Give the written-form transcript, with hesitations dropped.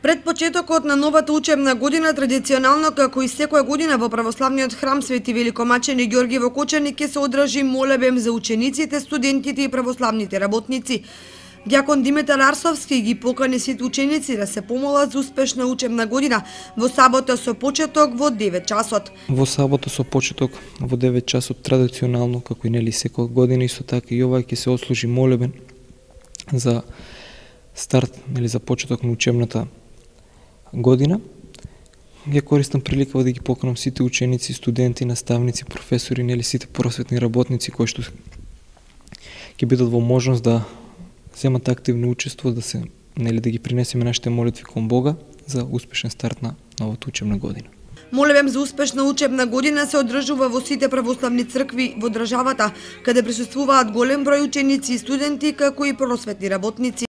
Пред почетокот на новата учебна година, традиционално како и секоја година во православниот храм Свети Великомачени Ѓорги во Кочани ќе се одржи молебен за учениците, студентите и православните работници. Дјакон Димитар Арсовски ги покани сите ученици да се помолат за успешна учебна година во сабота со почеток во 9 часот. Во сабота со почеток во 9 часот традиционално, како и нели секоја година, исто така и ова ќе се отслужи молебен за старт, нели за почеток на учебната година. Ја користам приликава да ги поканам сите ученици, студенти, наставници, професори, нели сите просветни работници кои што ќе бидат во можност да земат активно учество, да се нели да ги принесеме нашите молитви кон Бога за успешен старт на новата учебна година. Молебен за успешна учебна година се одржува во сите православни цркви во државата, каде присуствуваат голем број ученици и студенти, како и просветни работници.